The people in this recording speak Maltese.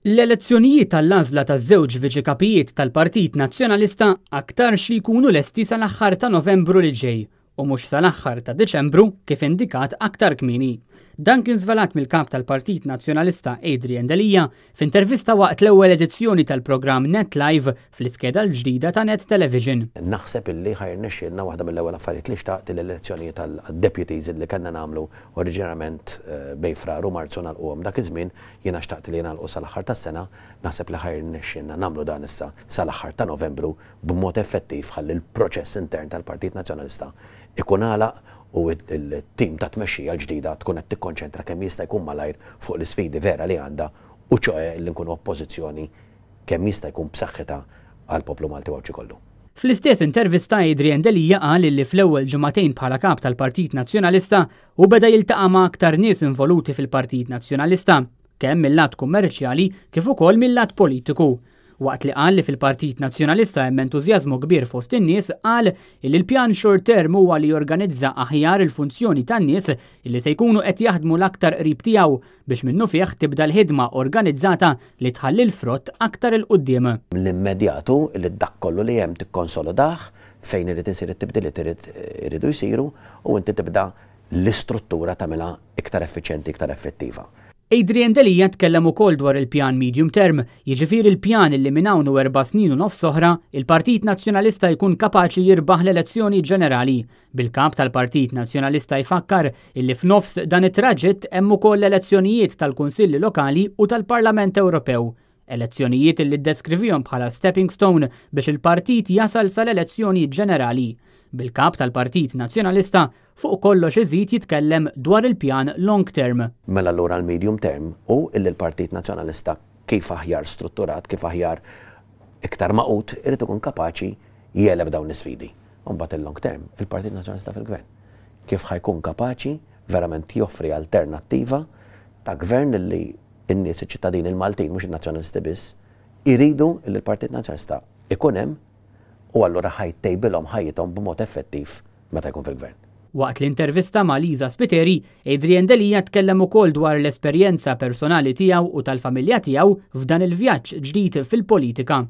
L-elezzjonijiet għall-għażla taż-żewġ Viċi Kapijiet tal-Partit Nazzjonalista aktarx li jkunu lesti sal-aħħar ta' Novembru li ġej u mhux sal-aħħar ta' Diċembru kif indikat aktar kmieni. Dan kien żvelat mill-Kap tal-Partit Nazzjonalista Adrian Delia f'intervista waqt l-ewwel edizzjoni tal-programm Net Live fl-iskeda l-ġdida ta' Net Television. Naħseb illi ħa jirnexxielna waħda mill-ewwel affarijiet li xtaqt li l-elezzjonijiet għad-deputies illi kellna nagħmlu oriġinarjament bejn Frar u Marzu nagħlquhom dak iż-żmien. Jiena xtaqt li jingħalqu sal-aħħar tas-sena, naħseb li ħa jirnexxielna nagħmlu dan issa sal-aħħar ta' Novembru b'mod effettiv ħalli l-proċess intern tal-Partit Nazzjonalista jkun għalaq u t-tim ta' tmexxija l-ġdida tkun qed tikkonċentra kemm jista' jkun malajr fuq l-isfidi vera li għandha u ċoe li nkunu oppożizzjoni kemm jista' jkun b'saħħitha għall-poplu Malti u Għawdxi kollu. Fl-istess intervista Adrian Delia qal illi fl-ewwel ġimagħtejn bħala Kap tal-Partit Nazzjonalista hu beda jiltaqa' ma' aktar nies involuti fil-Partit Nazzjonalista, kemm mil-lat kummerċjali kif ukoll mil-lat politiku. Waqt li qal li fil-Partit Nazzjonalista hemm entużjażmu kbir fost in-nies, qal illi l-pjan short term huwa li jorganizza aħjar il-funzjoni tan-nies illi se jkunu qed jaħdmu l-aktar qrib tiegħu biex minnufih tibda l-ħidma organizzata li tħalli l-frott aktar 'il quddiem. L-immedjat hu li dak kollu li hemm tikkonsolodah, fejn irid isir it-tibdiliet irid iridu jsiru u inti tibda l-istruttura tagħmilha iktar effiċjenti, iktar effettiva. Adrian Delia tkellem ukoll dwar il-pjan medium term, jiġifieri l-pjan li minn hawn u 4 snin u nofs oħra, il-Partit Nazzjonalista jkun kapaċi jirbaħ l-elezzjoni ġenerali. Bil-kap tal-Partit Nazzjonalista jfakkar illi f'nofs dan it-traġitt hemm ukoll l-elezzjonijiet tal-Kunsilli Lokali u tal-Parlament Ewropew. Elezzjonijiet illi ddeskrivihom bħala stepping stone biex il-partit jasal sal-elezzjoni ġenerali. Bil-kap tal-Partit Nazzjonalista fuq kollox iżid jitkellem dwar il-pjan long term. Mela allura l-medium term hu illi l-Partit Nazzjonalista kif aħjar strutturat, kif aħjar iktar magħqud, irid ikun kapaċi jegħleb dawn l-isfidi. Mbagħad il-long term, il-Partit Nazzjonalista fil-gvern. Kif ħa jkun kapaċi verament joffri alternattiva ta' gvern li n-nies, iċ-ċittadini il-Maltin, mhux in-nazzjonalisti biss, iridu li l-Partit Nazzjonalista ikun hemm u allura ħa jtejbilhom ħajjithom b'mod effettiv meta jkun fil-gvern. Waqt l-intervista ma' Liza Spiteri, Adrian Delia tkellem ukoll dwar l-esperjenza personali tiegħu u tal-familja tiegħu f'dan il-vjaġġ ġdid fil-politika.